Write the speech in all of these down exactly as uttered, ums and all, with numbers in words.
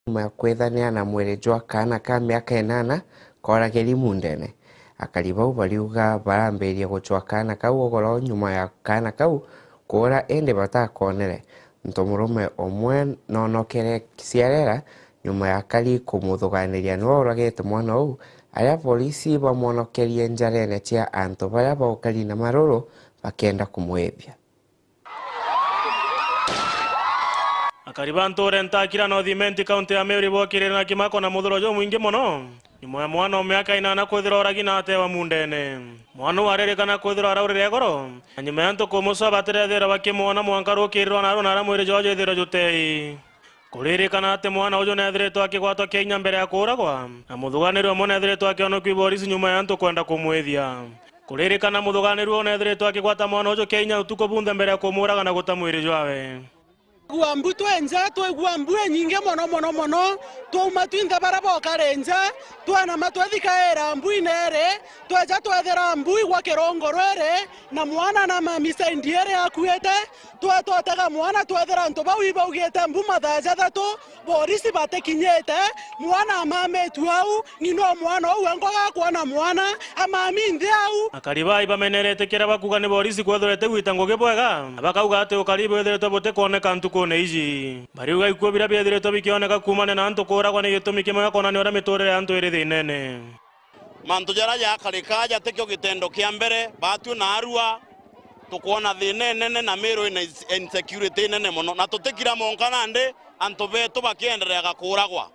Nyuma ya kwithanira na mwiri jwa kaana ka miaka inana kooragiri Mundene, akari bau bariuga barambirie gucwa kaana kau ugoro nyuma ya kaana kau kuura indi batakonere. Ntomurume umwe noonokere Kisiarera nyuma ya akari kumuthuganiria niwe uragite mwana uu, aria borisi bamwonokerie njarene cia antu baria baukari na maruru bakienda kumwithia. Akari ba ntuure Ntakira North Imenti, kaunti ya Meru, ibokirire na kimako na muthuro jumwingi mono, nyuma ya mwana o miaka inana kwithirwa uragi na atewa Mundene. Mwana uu aririkana kwithirwa araurire igoro, na nyuma ya ntuku mucwa batirethirwa bakimwona mwanka rukiiri rwa naru, na aria mwiri jwao jwithirwe jutei. Kuririkana ati mwana uju neethiritwe akigwatwa kinya mbere ya kuuragwa, na muthuganiri umwe neethiritwe akionokua i borisi nyuma ya antu kwenda kumwithia. Kuririkana muthuganiri uu neethiritwe akigwata mwana uju kinya utuku bunthe mbere ya kumuuraga na guta mwiri jwawe. Gua mbu twenja, twaigua mbu inyingi mono, mono, mono. Twauma twinthe baria bokari nja, twenama twethikaira mbu ineri, tweja twethira mbu igwa kirungu rwiri, na mwana na mami saindi iri akuite. Twetotega mwana, twethira antu bau ibaugite mbu mathaa jathatu, borisi batikinyite, mwana amamitue au, ng'ina o mwana uu enkoga akwona mwana, amami nthi au. Akari bai bamenerete kiria bakuga ni borisi kwethirwa itigwita ngugi bwega, na bakauga ati ukari bwithiritwe butikwoneka ntukune iji. Bariuga ikuo biria biethiritwe bikioneka kuumania na antu kuuragwa ni gitumi kimwe gia kwonania uria miturire ya antu iri thinene. Mantu jaria jakarika jatikio gitendo kia mbere, baatwi na arua tukwona thina inene na Meru ina ins-, insecurity inene mono, na tutikira monka nandi antu betu bakiendereaga kuuragwa.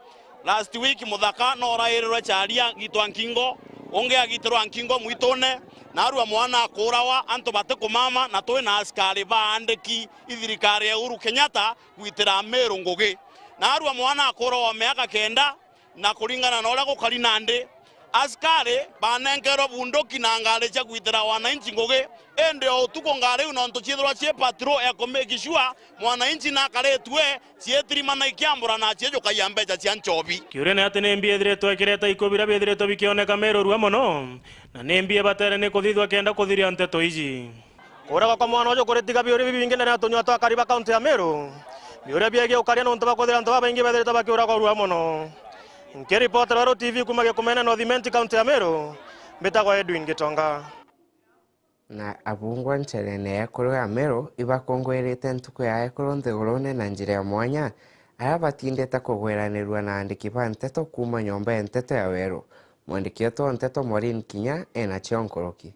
Last week muthaka no urairirwe charia agitwa nkingo, ungi agitirwa nkingo mwitune, na arua mwana akuurawa, antu batikumama, na twi na askari baandiki i thirikari ya Uhuru Kenyatta gwitira Meru ngugi. Na arua mwana akuurawa wa miaka kenda, na kuringana na uria gukari nandi, askari banenkerwe bunduki na ngari cia gwitira wananchi ngugi, indi o utuku ngari iu nontu ciithirwa cii patrol ya ku make sure mwananchi nakaritue, ciitirimana ikiambura na ciejukagia mbeca cia nchobi. Kiuria ni ati ni mbi ithiritwe ikireta ikuo biria bithiritwe bikioneka Meru rua mono, na ni mbi ibatere ni kuthithwa kenda kuthiria nteto iji. Kuuragwa kwa mwana uju kuritiga biuria bibingi ndene ya tunyua twa akari ba kaunti ya Meru. Biuria biegie ukaria nontu bwa kwithira antu babaingi bethiritwe bakiuragwa rua mono. Nkiripotera Weru T V kuuma Gikumene, North Imenti, kaunti ya Meru, mbitagwa Edwin Gitonga. Na abungwa ncherene ya ekuru ya Meru ibakungwirite ntuku ya ekuru nthigurune na njira ya mwanya, aria batindite kugwiranirua na aandiki ba nteto kuuma nyomba ya nteto ya Weru. Mwandiki wetu wa nteto Maureen Kinya ena cio nkuruki.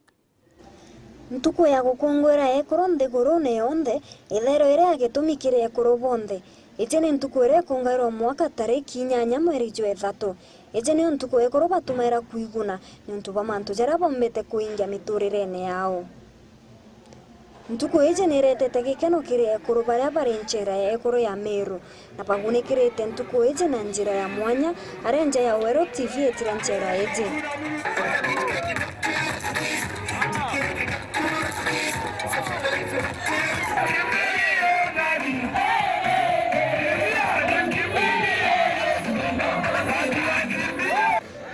Ntuku ya gukungwira ekuru nthigurune yonthe ithairwa iri ya gitumi kiri ekuru bonthe. Iji ni ntuku iria ikungairwa mwaka tariki inyanya mweri jwa ithatu. Iji niyo ntuku ekuru batumaira kwiguna niuntu bwa mantu jaria bombite kuingia miturirene yao. Ntuku iji ni iretete gikeno kiri ekuru baria bari nchera ya ekuru ya Meru. Na bagunikirite ntuku iji na njira ya mwanya, aria nja ya Weru T V itire nchera iji.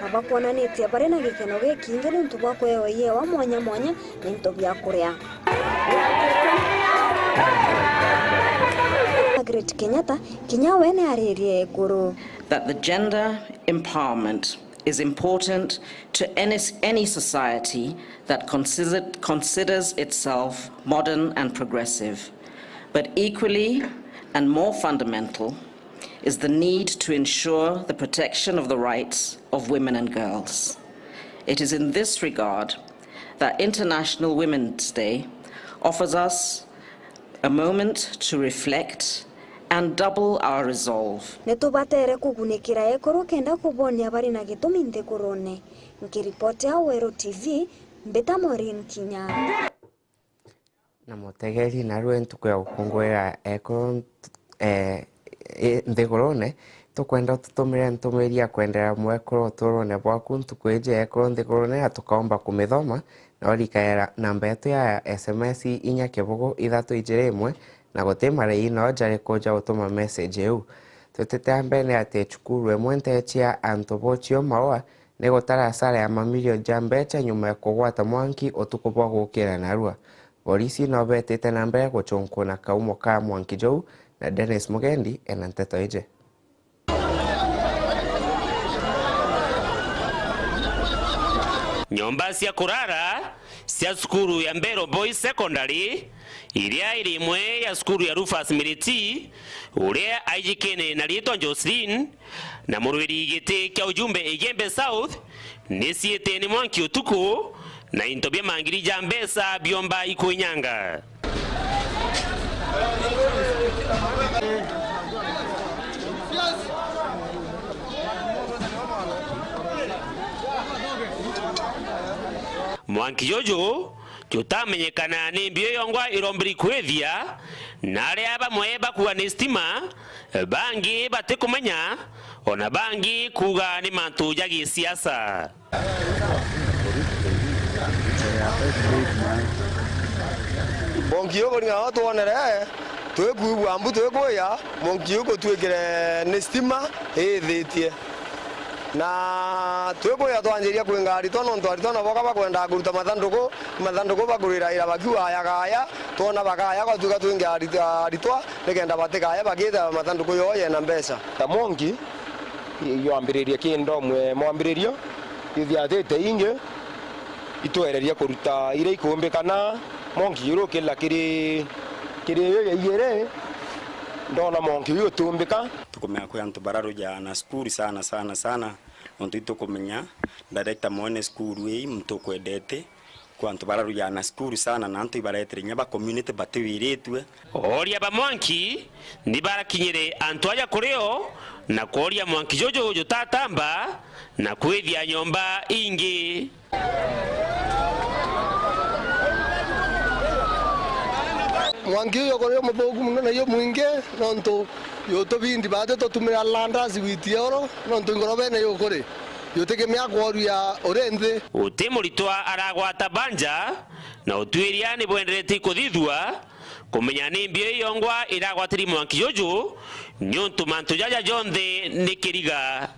Na bakwonanitie bari na gikeno gikingi niuntu bwa kuewa iewa mwanya mwanya na into bia kuria. Margaret Kenyatta kinya we ni aririe ekuru. That the gender empowerment is important to any, any society that considered, considers itself modern and progressive. But equally and more fundamental is the need to ensure the protection of the rights of women and girls. It is in this regard that International Women's Day offers us a moment to reflect and double our resolve. Ni tubatere kugunikira ekuru kenda kubonia bari na gitumi nthigurune. Nkiripotia Weru T V, mbita Maureen Kinya. Na mutegeri, narua ntuku ya gukungwira ekuru nt-, eh, i-, nthigurune, tukwenda ututumire ntumiri ya kwenderea mwekuru uturune bwaku ntuku iji ya ekuru nthigurune, na tukaomba kumithoma, na urikaira namba yetu ya S M S inya kibugu ithatu ijiri imwe, na guti marai no jariku ja gutuma message iu. Twitite a mbere ni ati cukuru imwe ntecia antu bochio maua ni gutara asara ya mamilioni ja mbecha nyuma ya kugwata mwanki utuku bwa gukira narua. Borisi no betite na mbere guchunkuna kaumo ka mwanki juu, na Dennis Mugendi ena nteto iji. Nyomba cia kurara cia cukuru ya Mbero Boys Secondary, iria iri imwe ya cukuru ya Rufus Miriti, uria aijikene na riitwa Jocelyn, na murwiri giti kia ujumbe Igembe South, ni ciite ni mwanki utuku, na into bia mangiri ja mbeca biomba ikwinyanga. Mwanki juju jutamenyekana ni mbio yongwa irombiri kwithia, na aria bamwe bakuga ni stima, bangi batikumenya, ona bangi kuga ni mantu ja gisiasa. Mwanki uyu kuringana na twonere, twikwigua mbu twikuya, mwanki uyu gutwikire ni stima iithitie. Na twikwija twanjiria kwinga aritwa, nontu aritwa nabo ka bakwendaa kuruta mathanduku, mathanduku bakuriraira bakiuga aya kaya, twona bakaya, gwatuika twinge arit-, aritwa, nikenda batikaya bagiita mathanduku yoo yena mbeca. Ta mwanki, yambiririe ki ndom e mwambiririo, ithiatite ingi, itwereria kuruta iria ikumbikana, mwanki uyu ukila kiri, kiri iyo ya iiri, ndona mwanki uyu utumbika. Tukumenya kwi antu bararujaa na cukuru sana, sana, sana. Nontu itukumenya director mwene cukuru ii muntu ukwendete, kwi antu bararujaa na cukuru sana, na antu ibaretere inya ba community batiwiritue. Ooria ba mwanki ni barakinyire antu aja kuri o, na kworia mwanki juju jutatamba na kwithia nyomba ingi. Mwanki uyu ukuri umuthuku mono na iyo mwingi, nontu jutubindi baati tutumira landasi witi oro, nontu ngorobene yukuri jutikimia kworia uri nthi. Uti muritwa aragwata banja, na utwiria ni bwenderete kuthithua kumenya ni mbio iyongwa iragwatiri mwanki juju, niuntu mantu jaja jonthe ni kiriga.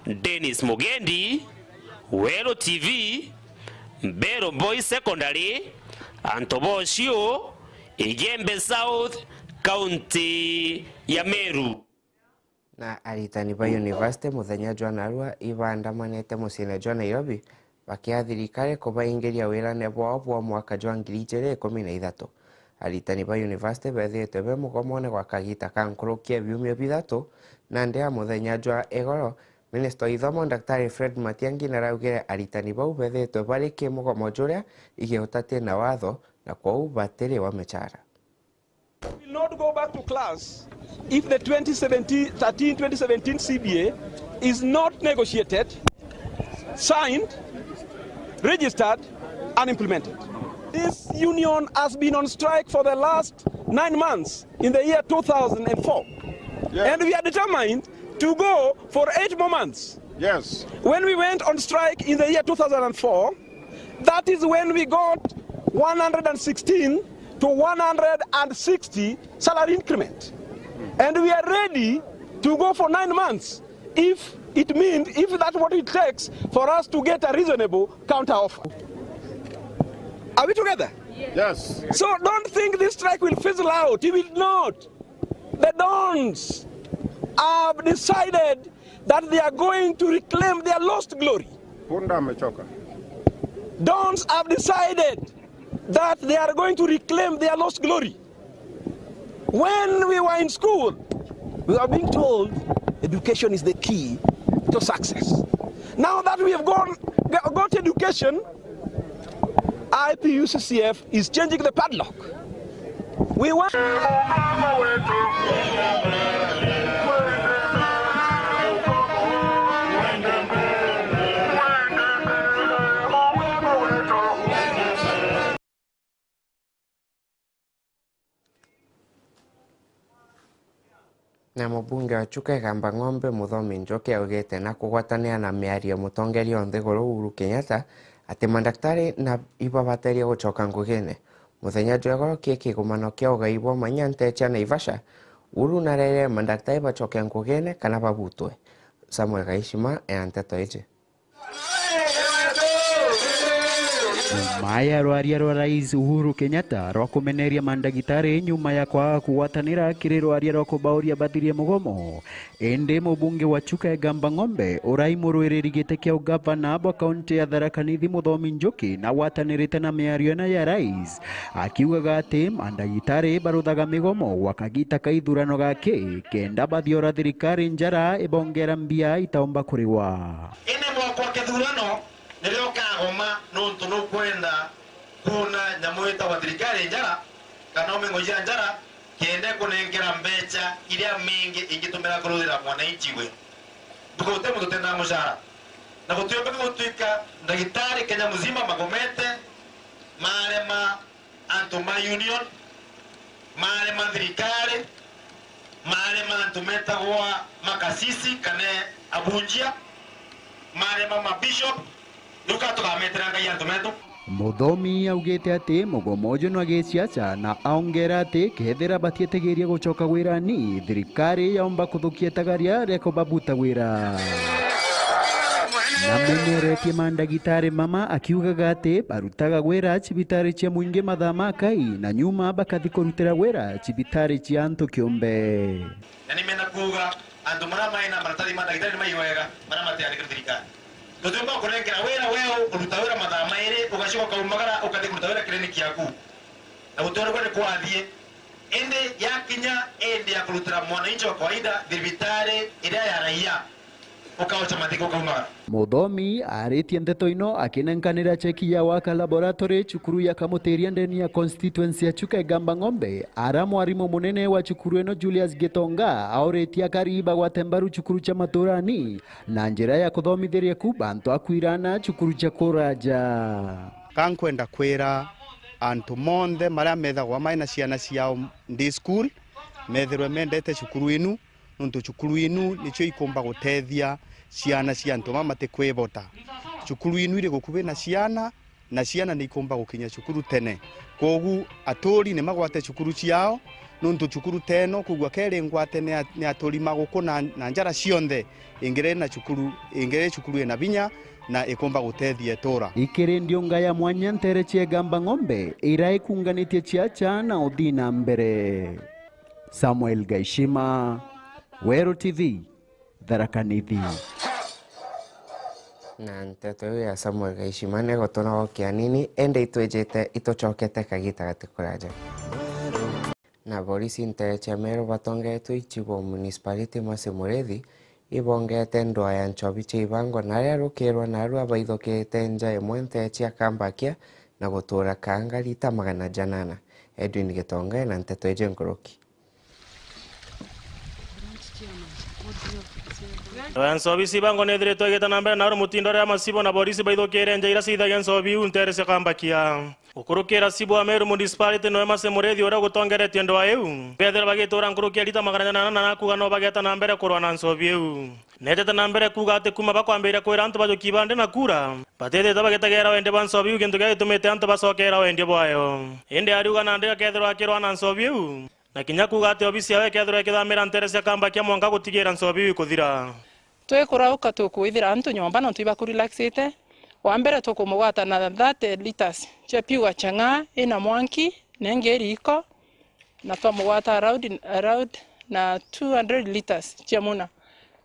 Dennis Mugendi, Weru T V, Mbero Boys Secondary, antu bocio, Igembe South, kaunti ya Meru. Na aritani ba university muthenya jwa narua ibaandamanite muciine jwa Nairobi, bakia thirikari kubaingiria wirane bwao bwa mwaka jwa ngiri ijiri ikumi na ithatu. Aritani ba university bethitwe be mugomone gwa kagita ka nkuruki ya biumia bithatu, nandi ya muthenya jwa igoro, Minista wa ithomo, Daktari Fred Matiang'i, naraugire aritani bau bethitwe bari ki mugomo juria igiutati na watho, na kwou batiriwa michara. We will not go back to class if the twenty seventeen, thirteen, twenty seventeen C B A is not negotiated, signed, registered, and implemented. This union has been on strike for the last nine months in the year two thousand and four. Yes. And we are determined to go for eight more months. Yes. When we went on strike in the year two thousand and four, that is when we got one hundred and sixteen to one hundred and sixty salary increment. And we are ready to go for nine months if it means, if that's what it takes for us to get a reasonable counter offer. Are we together? Yes. So don't think this strike will fizzle out. It will not. The Dons have decided that they are going to reclaim their lost glory. Punda amechoka. Dons have decided that they are going to reclaim their lost glory. When we were in school, we were being told education is the key to success. Now that we have gone, got education, I P U C C F is changing the padlock. We want Na mubunge wa Chuka Igamba Ng'ombe, Muthomi Njoki, augite na kugwatanira na miario ya mutongeria wa nthiguru Uhuru Kenyatta ati mandaktari na ibabateria gucoka ngugine. Muthenya jwa igoro ki kigomano kia ugai bwa manya nte cia Naivasha, Uhuru narerire mandaktari bacoke ngugine kana babutwe. Samuel Gaishima ena nteto iji. Maya rwaria rwa Rais Uhuru Kenyatta rwa kumeneria mandagitari nyuma ya kwaga kugwatanira kiri rwaria rwa kubauria bathirie mugomo. Indi mubunge wa Chuka Igamba Ng'ombe urai murwiriri giti kia ugavana bwa kaunti ya Tharaka Nithi Muthomi Njuki nagwatanirite na miario ino ya Rais, akiugaga ati mandagitari baruthaga migomo gwa kagita ka ithurano gaki kenda bathiora thirikari njara ibongera mbia itaumba kuriwa. Indi mwaka wa kithurano nirio ukagoma, nontu nukwenda kuuna nyamu itagwa thirikari njara, kana uming'o cia njara, kenda ikunenkera mbeca iria mingi ingitumira kuruthira mwananchi we. Ntuku guti muntu utendaa mucara. Na gutiumbika gutuika ndagitari Kenya muzima magomete, marema antu ma union, marema thirikari, marema antu metagwa makasisi kana abunjia, marema mabishop, riu ka tukametera Ngai antu metu? Muthomi augite ati mugomo uju nwa gisiasa na aongera ati kethira batietigiria gucoka wirani, thirikari yaumba kuthukia itagaria ria kubabuta wira. Nameneretie mandagitari mama akiugaga ati barutaga wira cibitari cia mwingi mathaa ma kai na nyuma bakathi kurutira wira cibitari cia antu kiumbe. Na nimenda kuuga antu maria mai na maratathi ma ndagitari ni mai wega, maria matiandikirwe thirikari. Tutiumba kunenkera wira weu, uruta wira mathaa mairi, ugacoka ukaumagara, ukathi kuruta wira kiriniki yaku. Na gutiona uria ni kwathie. Indi yakinya indi ya kurutira mwananchi wa kawaida, thibitari iria ya raia, ukaocha mathiko ukaumagara. Muthomi aritie ndeto ino akinenkanira cheki ya Waka Laboratory cukuru ya Kamutiria ndeni ya constituency ya Chuka Igamba Ng'ombe, ara mwarimu munene wa cukuru ino Julius Gitonga auritie akari bagwate mbaru cukuru cia maturani na njira ya kuthomithiria ku bantu akwirana cukuru cia kuraja. Ka nkwenda kwira antu monthe maria methagwa mai na ciana ciao day school, methirwe mendete cukuru inu, nontu cukuru inu nicio ikumba gutethia ciana cia antu baa matikwivota. Cukuru inu iri gukuvi na ciana, na ciana ni ikumba gukinya cukuru tene. Kwogu aturi ni magwate cukuru ciao, nontu cukuru teno kwigua keri ngwate ni a-, ni aturi ma guku na, na njara cionthe, ingiri na cukuru, ingiri cukuru ina vinya na ikumba gutethia itura. Ikiri ndiunga ya mwanya ntere cia Igamba Ng'ombe ira ikunganitie ciacha na uthii na mbere. Samuel Gaishima, Weru T V, Tharaka Nithi. Na nteto iu ya Samuel Gaishima ni gutuna o kianini, indi itwijite itucokete kagita gati kuraja. Na borisi ntere cia Meru batongeetwe i chief wa municipality Mercy Muriithi, ibongete ndwaa ya nchobi cia ibango na aria rukirwa narua baithukite nja imwe ntere cia Kambakia na gutura kaanga rita magana janana. Edwin Gitonga ena nteto iji nkuruki. Ndwaa ya nchobi cia ibango ni ithiritwe igita na mbere naru mutindo riria machifu na borisi baithukire nja iria ciithagia nchobi iu ntere cia Kambakia. Gukurukira chief wa Meru Municipality noe Mercy Muriithi uria ugutongeretie ndwaa iu. Bethira bagitura nkuruki ya rita magana janana na nakuga no bageta na mbere kurwa na nchobi iu. Netete na mbere kuuga ati kuuma bakwambiria kwira antu bajuki bandi na kura, batithite bagitegera wendi bwa nchobi iu, gintu kiria gitumite antu bacokera wendia bwayo. Indi ariuga nandi akethirwa akirwa na nchobi iu, na kinya kuuga ati obisi yawe ikethirwa ikithamira ntere cia Kambakia mwanka gutigira nchobi iu ikuthira. Twikurauka tukwithira antu nyomba nontu ibakurelaxite. Wa mbere tukumugwata na thirty litres cia pure chang'aa ina mwanki na ingi iri iko, na twamugwata around, around na two hundred litres cia muna.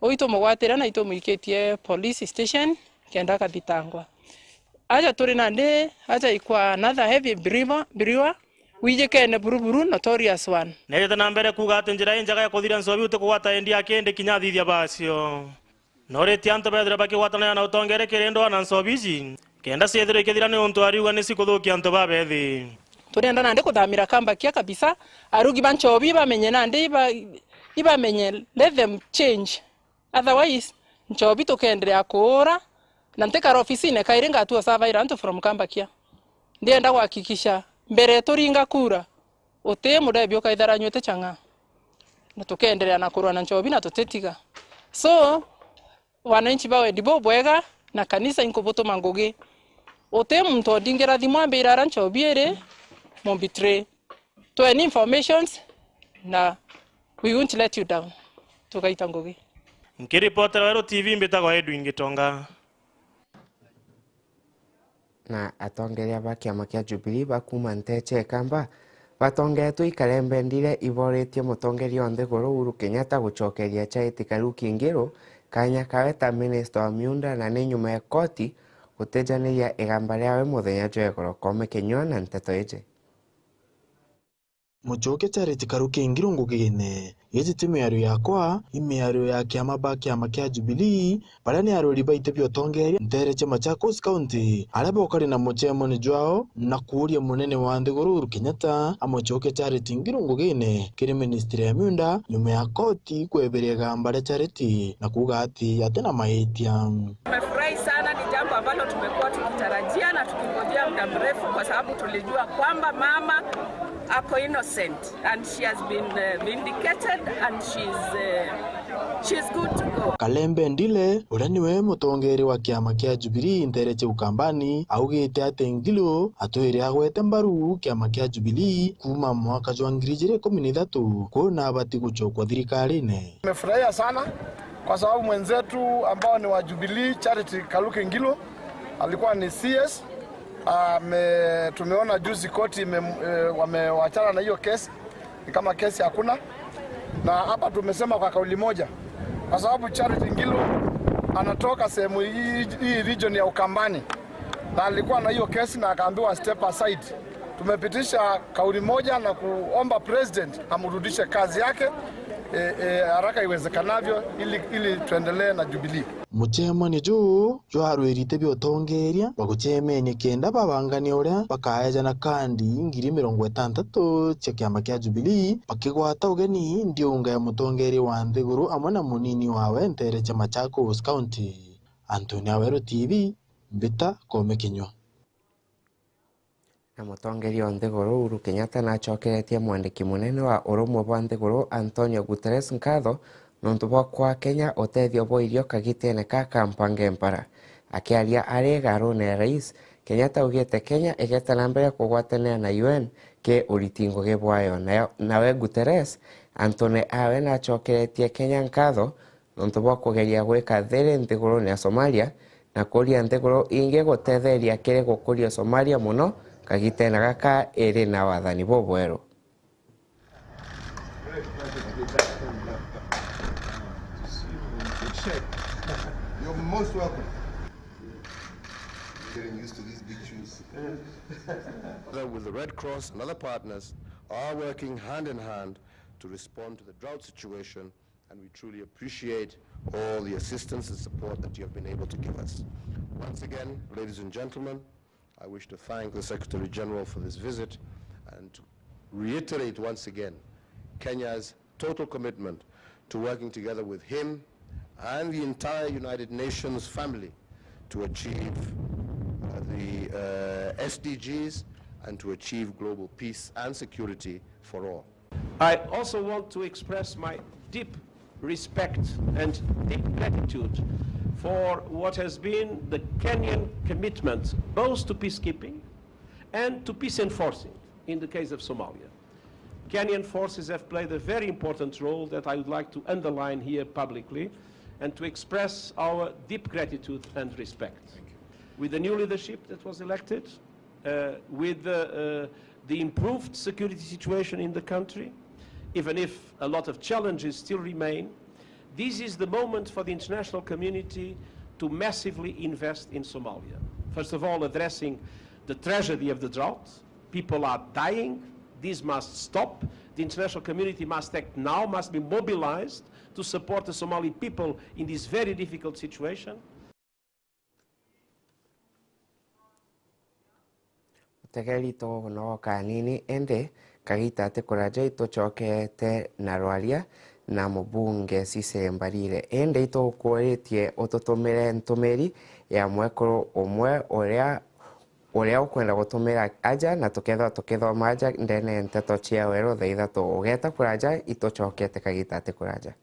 Uu itumugwatire na itumwikitie police station kenda akathitangwa. Aja turi nandi, aja ikwa another heavy brewer, brewer, wijikene buru buru, notorious one. Neejite na mbere kuuga ati njira injega ya kuthiria nchobi uti kugwata endia aki indi kinya athithia baacio. Noritie antu bethirwe bakigwatanira na utongeri kiri ndwaa na nchobi iji, kenda ciethirwe ikithira niuntu ariuga ni cikuthukia antu babethi. Turienda nandi kuthamira Kambakia kabisa, arugi ba nchobi ibamenye nandi iba-, ibamenye, let them change. Otherwise, nchobi tukeenderea kuura, na ntikara ofisine kairi ngatua surveyor antu from Kambakia. Ndienda kuhakikisha mbere turinga kura, uti murebi ukaithara anywite chang'aa. Na tukeenderea na kurwa na nchobi na tutitiga. So, wananchi ba wendi bubwega na kanisa inkubutuma ngugi. Uti muntu ondingira thimu ambira ara nchobi iri, mumbitray. Tweni informations na we won't let you down. Tugaita ngugi. Nkiripotera Weru T V, mbitagwa Edwin Gitonga. Na atongeria ba kiama kia Jubilee ba kuuma nteche Kamba batongetwe i Kalembe Ndile iboretie mutongeria wa nthiguru Uhuru Kenyatta gucokeria Charity Kaluki Ngilu kanya kawe ta minista wa miunda, na ni nyuma ya koti gutejaniria igamba riawe muthenya jwa igoro. Kome kinyua na nteto iji. Muchuke Charity Karuki Ngilu ngugine. Giji ti miario yakwa, i miario ya kiama ba kiama kia Jubilee, baria ni arwiri baite bia utongeria ntere cia Machakos County, aria bokari na muchemoni jwao na kuuria munene wa nthiguru Uhuru Kenyatta amuchuke Charity Ngilu ngugine kiri ministry ya miunda, nyuma ya koti kweberia igamba ria Charity na kuuga ati atina maitia. Tumefurahi sana, ni jambo ambalo tumekuwa tukitarajia na tukingojea muda mrefu, kwa sababu tulijua kwamba mama ako innocent and she has been, uh, vindicated and she's, uh, she's good to go. Kalembe Ndile, uria niwe mutongeria wa kiama kia Jubilee ntere cia Ukambani, augite ati Ngilu atwire agwete mbaru kiama kia Jubilee kuuma mwaka jwa ngiri ijiri ikumi na ithatu, kwona abati guchokwa thirikarine. Nimefurahia sana kwa sababu mwenzetu ambao ni wa Jubilee, Charity Kaluki Ngilu, alikuwa ni C S. Ame-, tumeona juzi koti ime-, eh, wamewachana na hiyo kesi, ni kama kesi hakuna. Na hapa tumesema kwa kauli moja, kwa sababu Charity Ngilu anatoka sehemu hii, hii region ya Ukambani, na alikuwa na hiyo kesi na akaambiwa step aside. Tumepitisha kauli moja na kuomba president amrudishe kazi yake, e, e, haraka iwezekanavyo ili, ili tuendelee na Jubilee. Muchemani juu jwarwirite bia utongeria baguchemenia kenda babangania uria bakaejana kandi ngiri mirongo itantatu cia kiama kia Jubilee, bakigwata ugeni ndiunga ya mutongeria wa nthiguru amwe na munini wawe ntere cia Machakos County. Anthony Aweru T V, Mbita Kome Kinyua. Na mutongeria wa nthiguru Uhuru Kenyatta nacokeretie mwandiki munene wa urumwe bwa nthiguru Antonio Guterres nkatho nontu bwa kwa Kenya utethio bwa irio kagitene ka ka mpange mpara. Akiaria ari igarune ya rais, Kenyatta augite Kenya igeta na mbere kugwatanira na U N ki uriti ngugi bwayo. Nayo, nawe Guterres, Anthony awe nacokeretie Kenya nkatho nontu bwa kugeria gwika thiri nthigurune ya Somalia na kuria nthiguru ingi gutetheria kiri gukuria Somalia mono kagitene gaka iri na wathani bubweru. You're most welcome. Getting used to these big shoes. With the Red Cross and other partners are working hand in hand to respond to the drought situation, and we truly appreciate all the assistance and support that you have been able to give us. Once again, ladies and gentlemen, I wish to thank the Secretary General for this visit and to reiterate once again Kenya's total commitment to working together with him and the entire United Nations family to achieve, uh, the, uh, S D Gs and to achieve global peace and security for all. I also want to express my deep respect and deep gratitude for what has been the Kenyan commitment both to peacekeeping and to peace enforcing in the case of Somalia. Kenyan forces have played a very important role that I would like to underline here publicly and to express our deep gratitude and respect. With the new leadership that was elected, uh, with the, uh, the improved security situation in the country, even if a lot of challenges still remain, this is the moment for the international community to massively invest in Somalia. First of all, addressing the tragedy of the drought. People are dying. This must stop. The international community must act now, must be mobilized to support the Somali people in this very difficult situation. Utegeri tu no kanini, indi kagita ti kuraja itucokete na rwaria na mubunge Cecily Mbarire. Indi itukwiritie ututumire ntumiri ya mwekuru umwe uria, uria ukwenda gutumira aja, na tukethirwa tukithoma aja ndene ya nteto cia weru thaa ithatu. Ugeta kuraja, itucokete kagita ti kuraja.